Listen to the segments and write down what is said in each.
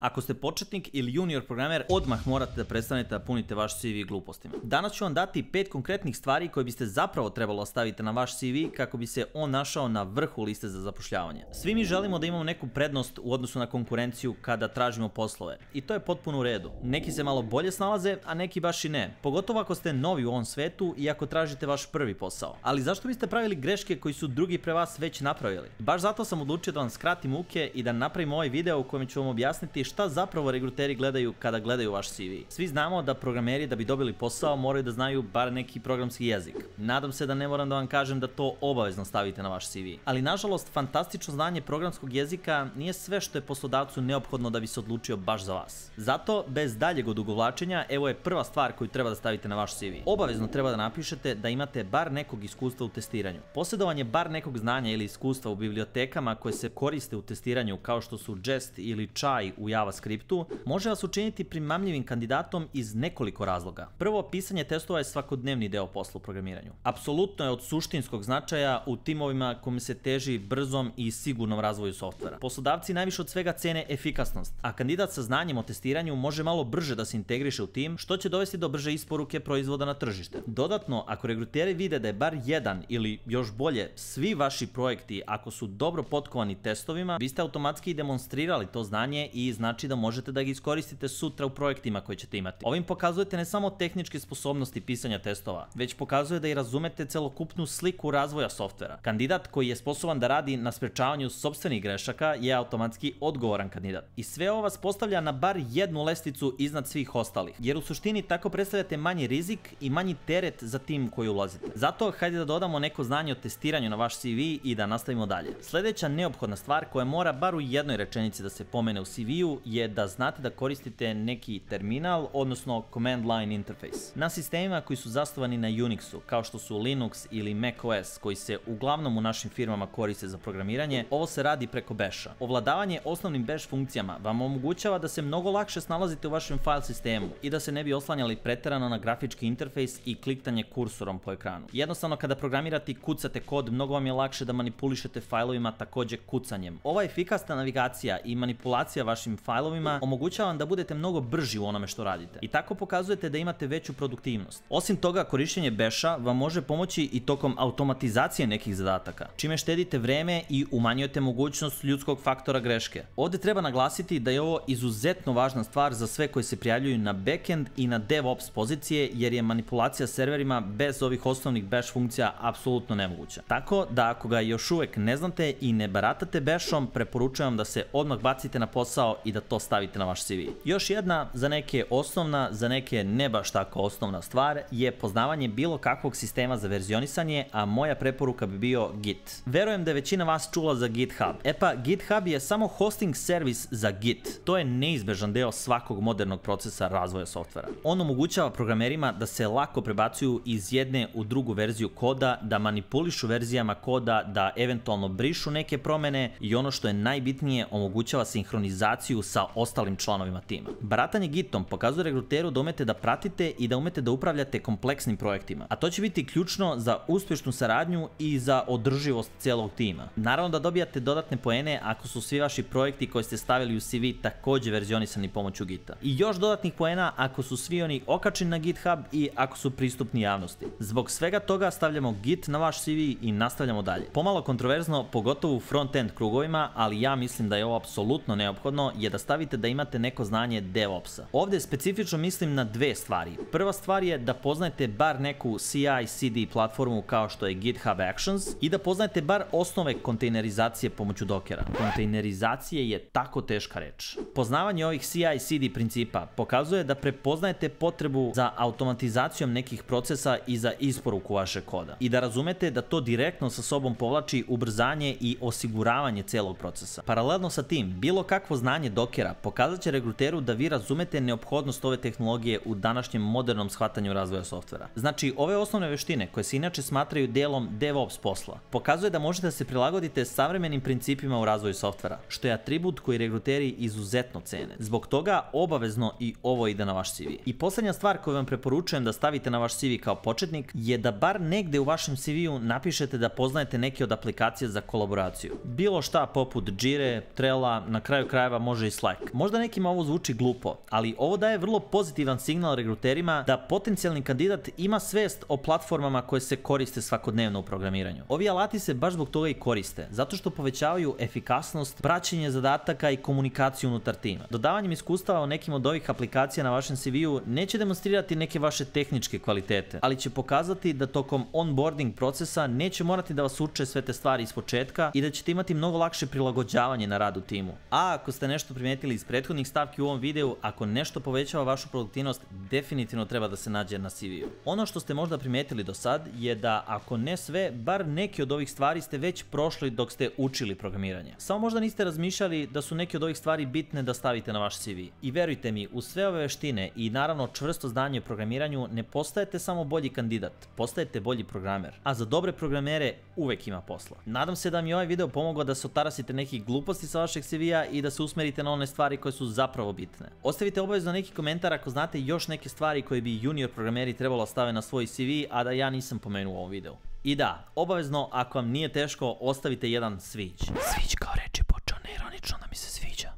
Ako ste početnik ili junior programer, odmah morate da prestanete da punite vaš CV glupostima. Danas ću vam dati 5 konkretnih stvari koje biste zapravo trebalo staviti na vaš CV kako bi se on našao na vrhu liste za zapošljavanje. Svi mi želimo da imamo neku prednost u odnosu na konkurenciju kada tražimo poslove. I to je potpuno u redu. Neki se malo bolje snalaze, a neki baš i ne. Pogotovo ako ste novi u ovom svetu i ako tražite vaš prvi posao. Ali zašto biste pravili greške koji su drugi pre vas već napravili? Baš zato sam odlučio da vam skratim muke i da napravim ovaj video u kojem ću vam objasniti šta zapravo regruteri gledaju kada gledaju vaš CV. Svi znamo da programeri da bi dobili posao moraju da znaju bar neki programski jezik. Nadam se da ne moram da vam kažem da to obavezno stavite na vaš CV. Ali nažalost, fantastično znanje programskog jezika nije sve što je poslodavcu neophodno da bi se odlučio baš za vas. Zato, bez daljeg odugovlačenja, evo je prva stvar koju treba da stavite na vaš CV. Obavezno treba da napišete da imate bar nekog iskustva u testiranju. Posjedovanje bar nekog znanja ili iskustva u bibliotekama koje se koriste u testiranju kao što su Jest ili Chai u JavaScriptu može vas učiniti primamljivim kandidatom iz nekoliko razloga. Prvo, pisanje testova je svakodnevni deo posla u programiranju. Apsolutno je od suštinskog značaja u timovima kome se teži brzom i sigurnom razvoju softvera. Poslodavci najviše od svega cene efikasnost, a kandidat sa znanjem o testiranju može malo brže da se integriše u tim, što će dovesti do brže isporuke proizvoda na tržište. Dodatno, ako regruteri vide da je bar jedan ili još bolje svi vaši projekti ako su dobro potkovani testovima, vi ste automatski demonstrirali to znanje i znači da možete da ga iskoristite sutra u projektima koje ćete imati. Ovim pokazujete ne samo tehničke sposobnosti pisanja testova, već pokazuje da i razumete celokupnu sliku razvoja softvera. Kandidat koji je sposoban da radi na sprečavanju sopstvenih grešaka je automatski odgovoran kandidat. I sve ovo vas postavlja na bar jednu lestvicu iznad svih ostalih, jer u suštini tako predstavljate manji rizik i manji teret za tim koji ulazite. Zato hajde da dodamo neko znanje o testiranju na vaš CV i da nastavimo dalje. Sledeća neophodna stvar koja mora bar u jednoj rečenici da se pomene u CV-u je da znate da koristite neki terminal, odnosno command line interface. Na sistemima koji su zasnovani na Unixu, kao što su Linux ili macOS, koji se uglavnom u našim firmama koriste za programiranje, ovo se radi preko Basha. Ovladavanje osnovnim Bash funkcijama vam omogućava da se mnogo lakše snalazite u vašem file sistemu i da se ne bi oslanjali preterano na grafički interfejs i kliktanje kursorom po ekranu. Jednostavno, kada programirate i kucate kod, mnogo vam je lakše da manipulišete fajlovima takođe kucanjem. Ova efikasna navigacija i manipulacija vašim fajlovima omogućava vam da budete mnogo brži u onome što radite i tako pokazujete da imate veću produktivnost. Osim toga, korišćenje Basha vam može pomoći i tokom automatizacije nekih zadataka, čime štedite vreme i umanjujete mogućnost ljudskog faktora greške. Ovde treba naglasiti da je ovo izuzetno važna stvar za sve koji se prijavljuju na backend i na DevOps pozicije, jer je manipulacija serverima bez ovih osnovnih Bash funkcija apsolutno nemoguća. Tako da ako ga još uvek ne znate i ne baratate Bashom, preporučujem da se odmah bacite na posao i da to stavite na vaš CV. Još jedna, za neke osnovna, za neke ne baš tako osnovna stvar, je poznavanje bilo kakvog sistema za verzionisanje, a moja preporuka bi bio Git. Verujem da je većina vas čula za GitHub. E pa, GitHub je samo hosting servis za Git. To je neizbežan deo svakog modernog procesa razvoja softvera. On omogućava programerima da se lako prebacuju iz jedne u drugu verziju koda, da manipulišu verzijama koda, da eventualno brišu neke promene i ono što je najbitnije, omogućava sinhronizaciju sa ostalim članovima tima. Baratanje Gitom pokazuje regruteru da umete da pratite i da umete da upravljate kompleksnim projektima, a to će biti ključno za uspešnu saradnju i za održivost celog tima. Naravno da dobijate dodatne poene ako su svi vaši projekti koje ste stavili u CV takođe verzionisani pomoću Gita. I još dodatnih poena ako su svi oni okačeni na GitHub i ako su pristupni javnosti. Zbog svega toga stavljamo Git na vaš CV i nastavljamo dalje. Pomalo kontroverzno, pogotovo u front-end krugovima, ali ja mislim da je ovo apsolutno neophodno, je da stavite da imate neko znanje DevOpsa. Ovde specifično mislim na dve stvari. Prva stvar je da poznajete bar neku CI/CD platformu kao što je GitHub Actions i da poznajete bar osnove kontejnerizacije pomoću Dockera. Kontejnerizacije je tako teška reč. Poznavanje ovih CI/CD principa pokazuje da prepoznajete potrebu za automatizacijom nekih procesa i za isporuku vašeg koda i da razumete da to direktno sa sobom povlači ubrzanje i osiguravanje celog procesa. Paralelno sa tim, bilo kakvo znanje Dockera pokazat će regruteru da vi razumete neophodnost ove tehnologije u današnjem modernom shvatanju razvoja softvera. Znači, ove osnovne veštine koje se inače smatraju delom DevOps posla, pokazuje da možete da se prilagodite savremenim principima u razvoju softvera, što je atribut koji regruteri izuzetno cene. Zbog toga obavezno i ovo ide na vaš CV. I poslednja stvar koju vam preporučujem da stavite na vaš CV kao početnik je da bar negde u vašem CV-u napišete da poznajete neke od aplikacija za kolaboraciju. Bilo šta poput Jire, Trella, na kraju krajeva može sadržaj Slack. Možda nekima ovo zvuči glupo, ali ovo daje vrlo pozitivan signal regruterima da potencijalni kandidat ima svest o platformama koje se koriste svakodnevno u programiranju. Ovi alati se baš zbog toga i koriste, zato što povećavaju efikasnost, praćenje zadataka i komunikaciju unutar tima. Dodavanjem iskustava o nekim od ovih aplikacija na vašem CV-u neće demonstrirati neke vaše tehničke kvalitete, ali će pokazati da tokom onboarding procesa neće morati da vas uče sve te stvari iz početka i da ćete imati mnogo lakše prilagođavanje na rad u timu. A ako ste nešto primijetili iz prethodnih stavki u ovom videu, ako nešto povećava vašu produktivnost, definitivno treba da se nađe na CV-u. Ono što ste možda primijetili do sad je da ako ne sve, bar neke od ovih stvari ste već prošli dok ste učili programiranje. Samo možda niste razmišljali da su neke od ovih stvari bitne da stavite na vaš CV. I verujte mi, uz sve ove veštine i naravno čvrsto znanje o programiranju ne postajete samo bolji kandidat, postajete bolji programer. A za dobre programere uvek ima posla. Nadam se da mi je ovaj video pomogao da se otarasite nekih gluposti sa vašeg CV-a i da se usmerite na one stvari koje su zapravo bitne. Ostavite obavezno neki komentar ako znate još neke stvari koje bi junior programeri trebalo stave na svoj CV, a da ja nisam pomenuo u ovom videu. I da, obavezno, ako vam nije teško, ostavite jedan sviđ. Sviđ kao reči počeo neironično da mi se sviđa.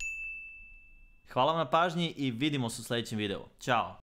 Hvala vam na pažnji i vidimo se u sljedećem videu. Ćao!